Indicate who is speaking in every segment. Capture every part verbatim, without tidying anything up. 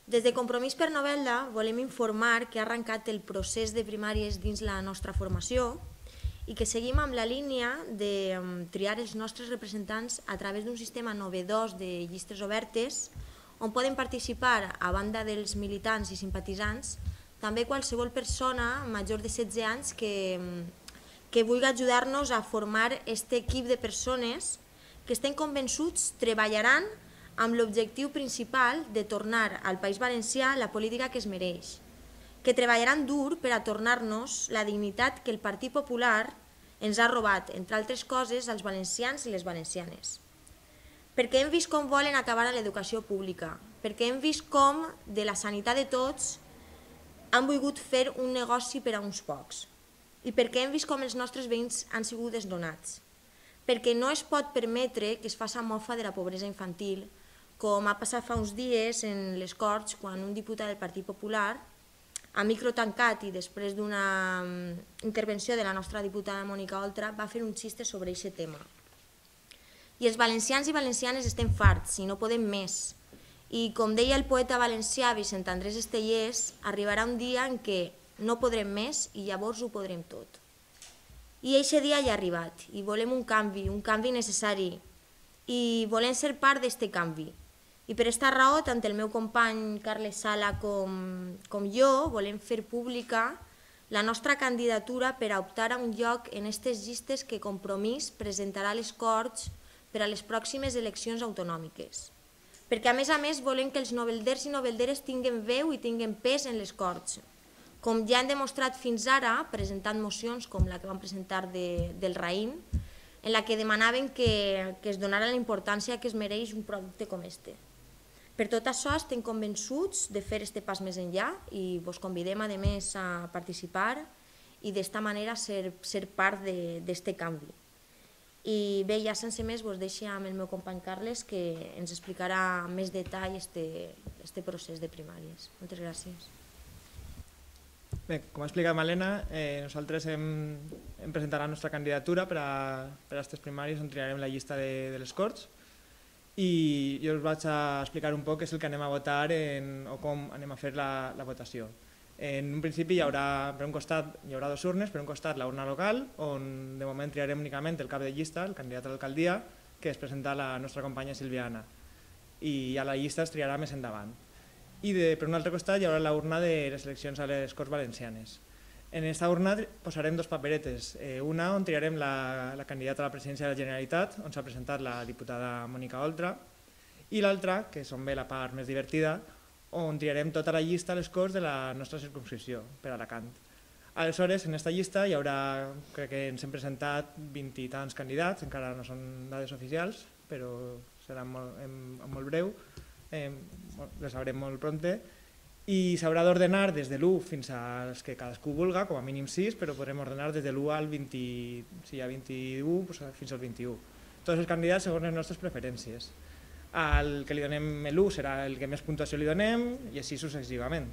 Speaker 1: Des de Compromís per Novelda volem informar que ha arrencat el procés de primàries dins la nostra formació i que seguim amb la línia de triar els nostres representants a través d'un sistema novedós de llistes obertes on poden participar, a banda dels militants i simpatitzants, també qualsevol persona major de setze anys que, que vulgui ajudar-nos a formar aquest equip de persones que estem convençuts treballaran amb l'objectiu principal de tornar al País Valencià la política que es mereix, que treballaran dur per a tornar-nos la dignitat que el Partit Popular ens ha robat, entre altres coses, als valencians i les valencianes. Perquè hem vist com volen acabar amb l'educació pública, perquè hem vist com de la sanitat de tots han volgut fer un negoci per a uns pocs i perquè hem vist com els nostres veïns han sigut desnonats, perquè no es pot permetre que es faci mofa de la pobresa infantil, com ha passat fa uns dies en les Corts quan un diputat del Partit Popular, a micro tancat i després d'una intervenció de la nostra diputada Mònica Oltra, va fer un xiste sobre aquest tema. I els valencians i valencianes estem farts i no podem més. I com deia el poeta valencià Vicent Andrés Estellés, arribarà un dia en què no podrem més i llavors ho podrem tot. I aquest dia ja ha arribat i volem un canvi, un canvi necessari i volem ser part d'aquest canvi. I per aquesta raó, tant el meu company Carles Sala com, com jo volem fer pública la nostra candidatura per a optar a un lloc en aquestes llistes que Compromís presentarà a les Corts per a les pròximes eleccions autonòmiques. Perquè a més a més volem que els novelders i novelderes tinguen veu i tinguen pes en les Corts, com ja han demostrat fins ara presentant mocions com la que vam presentar de, del Raïm, en la que demanaven que, que es donara la importància que es mereix un producte com este. Per tot això estem convençuts de fer este pas més enllà i vos convidem a més a participar i d'esta manera ser, ser part d'aquest canvi. I bé, ja sense més vos deixo amb el meu company Carles que ens explicarà amb més detall este procés de primàries. Moltes gràcies.
Speaker 2: Bé, com ha explicat Malena, eh, nosaltres hem, hem presentat la nostra candidatura per a, per a aquestes primàries on triarem la llista de, de les Corts i jo us vaig a explicar un poc què és el que anem a votar en, o com anem a fer la, la votació. En un principi hi haurà, per un costat, hi haurà dues urnes, per un costat la urna local, on de moment triarem únicament el cap de llista, el candidat a l'alcaldia, que es presenta la nostra companya Silviana, i a la llista es triarà més endavant. I de, per un altre costat hi haurà la urna de les eleccions a les Corts Valencianes. En aquesta urna posarem dos paperetes, eh, una on triarem la, la candidata a la presidència de la Generalitat, on s'ha presentat la diputada Mònica Oltra, i l'altra, que és on ve la part més divertida, on triarem tota la llista a les Corts de la nostra circumscripció, per Alacant. Aleshores, en aquesta llista hi haurà, crec que ens hem presentat vint i tants candidats, encara no són dades oficials, però serà molt, en, en molt breu, eh, les sabrem molt prompte, i s'haurà d'ordenar des de l'u fins als que cadascú vulga, com a mínim sis, però podrem ordenar des de l'u al vint, si hi ha vint-i-u, doncs fins al vint-i-u. Tots els candidats segons les nostres preferències. Al que li donem l'u serà el que més puntuació li donem i així successivament.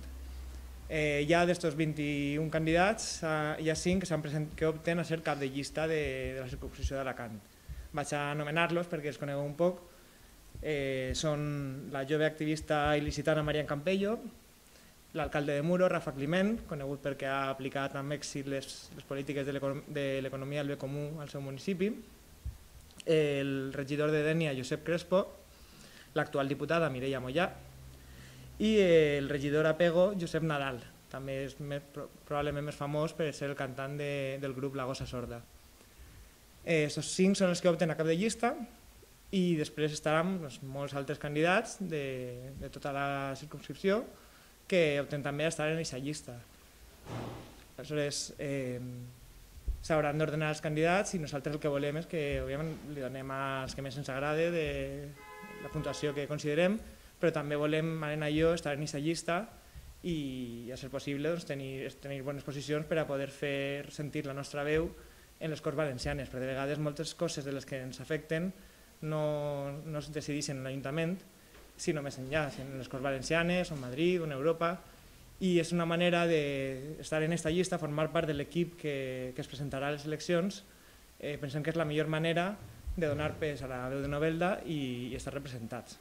Speaker 2: Eh, ja d'estos vint-i-un candidats eh, hi ha cinc que, que opten a ser cap de llista de, de la circumscripció d'Alacant. Vaig a anomenar-los perquè els conegueu un poc. Eh, són la jove activista il·licitana Marian Campello, l'alcalde de Muro, Rafa Climent, conegut perquè ha aplicat amb èxit les, les polítiques de l'economia del bé comú al seu municipi, el regidor de Dénia, Josep Crespo, l'actual diputada Mireia Mollà i el regidor a Pego, Josep Nadal, també és més, probablement més famós per ser el cantant de, del grup La Gossa Sorda. Aquests eh, cinc són els que opten a cap de llista i després estaran doncs, molts altres candidats de, de tota la circumscripció que opten també a estar en aquesta llista. Aleshores, eh, s'hauran d'ordenar els candidats i nosaltres el que volem és que òbviament, li donem als que més ens agrada de la puntuació que considerem, però també volem, Malena i jo, estar en aquesta llista i, a ser possible, doncs, tenir, tenir bones posicions per a poder fer sentir la nostra veu en les Corts Valencianes, perquè de vegades moltes coses de les que ens afecten no, no es decideixen en l'Ajuntament, sinó més enllà, en les Corts Valencianes, o en Madrid, o en Europa, i és una manera d'estar en aquesta llista, formar part de l'equip que, que es presentarà a les eleccions. Eh, pensem que és la millor manera de donar pes a la veu de Novelda i, i estar representats.